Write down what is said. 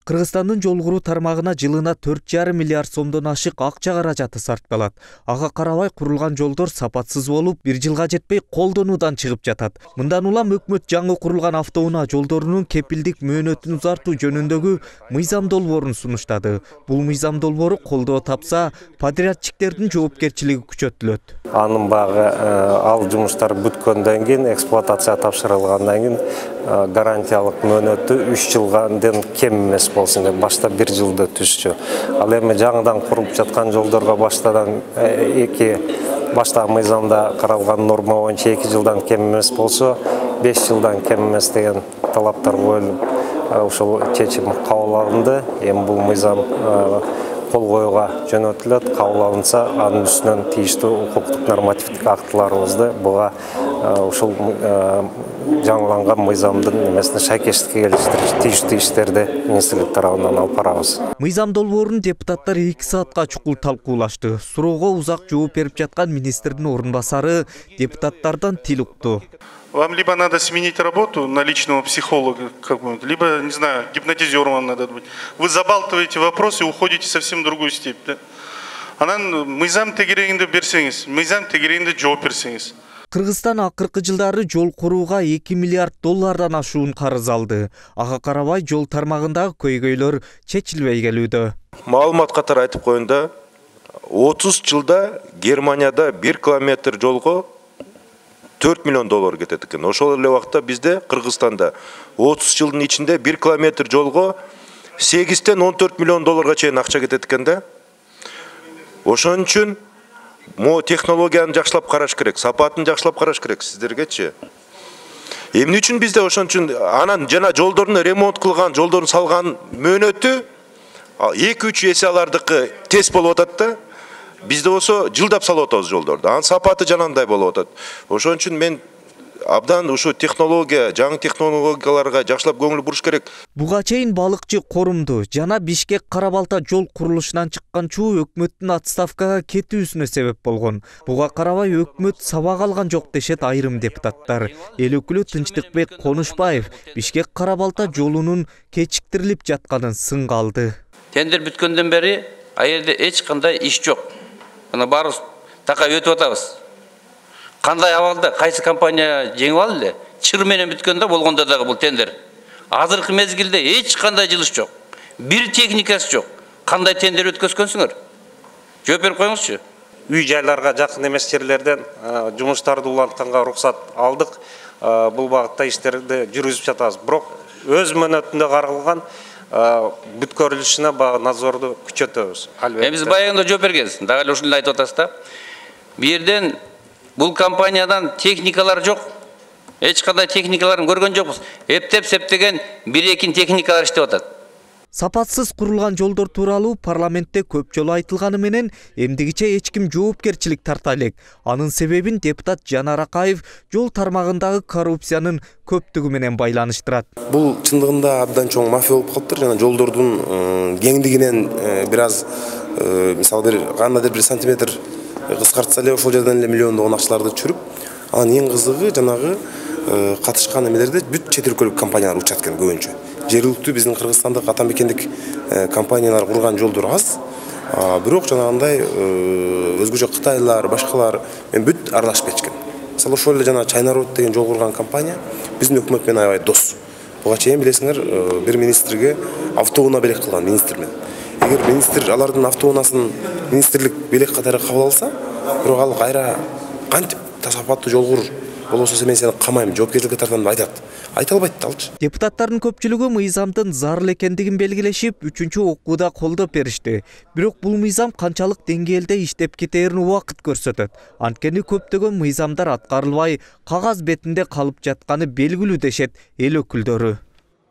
Кыргызстандын жол куруу тармагына жылына 4,5 миллиард сомдон ашык акча каражаты сарпталат. Ага карабай курулган жолдор сапатсыз болуп, 1 жылга жетпей колдонуудан чыгып жатат. Мындан улам өкмөт жаңы курулган автоунаа жолдорунун кепилдик мөөнөтүн узартуу жөнүндөгү мыйзам долбоорун сунуштады. Бул мыйзам долбоору колдоо тапса, подрядчиктердин жоопкерчилиги күчөтүлөт. Анын багы ал жумуштар бүткөндөн кийин, эксплуатация тапшырылгандан кийин гарантиялык мөөнөтү 3 жылдан кем эмес болсун деп башта 1 жылда түшчү. Ал эми жаңыдан курулуп жаткан жолдорго баштагы мыйзамда каралган норма боюнча 2 жылдан кем эмес болсо, 5 жылдан кем эмес деген талаптар коюлуп, ошол чечим кабыл алынды. Эми бул мыйзам кол коюуга жөнөтүлөт. Кабыл алынса, анын үстүнөн тийиштүү укуктук нормативдик актыларыбызды буга ушул жаңыланган мыйзамдын эмесине шайкештикке келиштирип, тийиштүү иштерди министрлик тарабынан алып барабыз. Мыйзам долбоорун депутаттар 2 саатка чукул талкуулашты. Суроого узак жооп берип жаткан министрдин орун басары депутаттардан тил укту. Вам либо надо сменить работу на личного психолога, либо, не знаю, гипнотизером надо быть. Вы забалтываете вопрос и уходите совсем в другую степь. Да? Анан мыйзам тегерегинде берсеңиз, мыйзам тегерегинде жооп берсеңиз. Кыргызстан акыркы жылдары жол курууга 2 миллиард доллардан ашуун карыз алды. Ага карабай жол тармагындагы көйгөйлөр чечилбей келүүдө. Маалымат катары айтып коюнда, 30 жылда Германияда 1 километр жолго 4 миллион доллар кетет экен. Ошол эле убакта бизде Кыргызстанда 30 жылдын ичинде 1 километр жолго 8-тен 14 миллион долларга чейин акча кетет экен да. Ошон үчүн технологияны жакшылап караш керек, сапатын жакшылап караш керек сиздергечи. Эмне үчүн бизде ошон үчүн анан жана жолдорун ремонт кылган, жолдорун салган мөөнөтү 2-3 эсе алардыкы тез болуп атат да. Бизде болсо жылдап салып атабыз жолдорду. Анын сапаты жанандай болуп атат. Ошон үчүн мен абдан ушу технология, жаңы технологияларга жакшылап көңүл буруш керек. Буга чейин балыкчы Корумду жана Бишкек Кара-Балта жол курулушунан чыккан чуу өкмөттүн отставкага кетүүсүнө себеп болгон. Буга карабай өкмөт сабак алган жок дешет айрым депутаттар. Эл өкүлү Тынчтыкбек Конушбаев Бишкек Кара-Балта жолунун кечиктирилип жатканын сынга алды. Тендер бүткөндөн бери аерде эч кандай иш жок. Мына барыбыз такай өтүп атабыз. Кандай абалда, кайсы компания жеңип алды эле? Чыр менен бүткөндө болгондо дагы бул тендер. Азыркы мезгилде эч кандай жылыш жок. Бир техникасы жок. Кандай тендер өткөзгөнсүңөр? Жооп берип коюңузчу. Үй жайларга жакын эмес жерлерден жумуштарды улантканга уруксат алдык. Бул багытта иштерди жүргүзүп жатабыз. Бирок өз мөөнөтүндө каралган бүткөрүлүшүнө багы надзорду күчөтөбүз. Биз баягында жооп бергенбиз. Дагы эле ушуну айтып атасыз да. Бу жерден бул компаниядан техникалар жок. Эч кандай техникаларын көргөн жокпуз. Эптеп септеген 1-2 техникалар иштеп атат. Сапатсыз курулган жолдор тууралуу парламентте көп жолу айтылганы менен эмдигиче эч ким жоопкерчилик тарта элек. Анын себебин депутат Жанар Акаев жол тармагындагы коррупциянын көптүгү менен байланыштырат. Бул чындыгында абдан чоң мафия болуп калыптыр. Жана жолдордун кеңдигинен бир аз мисалы кандайдыр бир сантиметр кыскартса эле ошол жерден эле миллиондогон акчаларды түшүрүп, анан эң кызыгы жанагы катышкан эмелерде бүт чет өлкөлүк компаниялар учат экен көбүнчө. Жергиликтүү биздин кыргызстандык атамекендик компаниялар курган жолдор аз. Бирок жанагындай өзгөчө Кытайлар, башкалар бүт аралашып кетишкен. Мисалы ошол эле жана Чайнарод деген жол курган компания биздин өкмөт менен аябай дос. Буга чейин билесиңер, бир министрге автоунаа белек кылган министр менен. Эгер министр алардын автоунаасын министрлик белек катары кабыл алса, бирок ал кайра кантип сапаттуу жол кур болбосо мен сени камайм, жоопкерчиликке тартам деп айтат. Айта албайт алчы. Депутаттардын көпчүлүгү мыйзамдын зарыл экендигин белгилешип, 3-окууда колдоп беришти. Бирок бул мыйзам канчалык деңгээлде иштеп кетерин убакыт көрсөтөт. Анткени көптөгөн мыйзамдар аткарылбай, кагаз бетинде калып жатканы белгилүү дешет эл өкүлдөрү.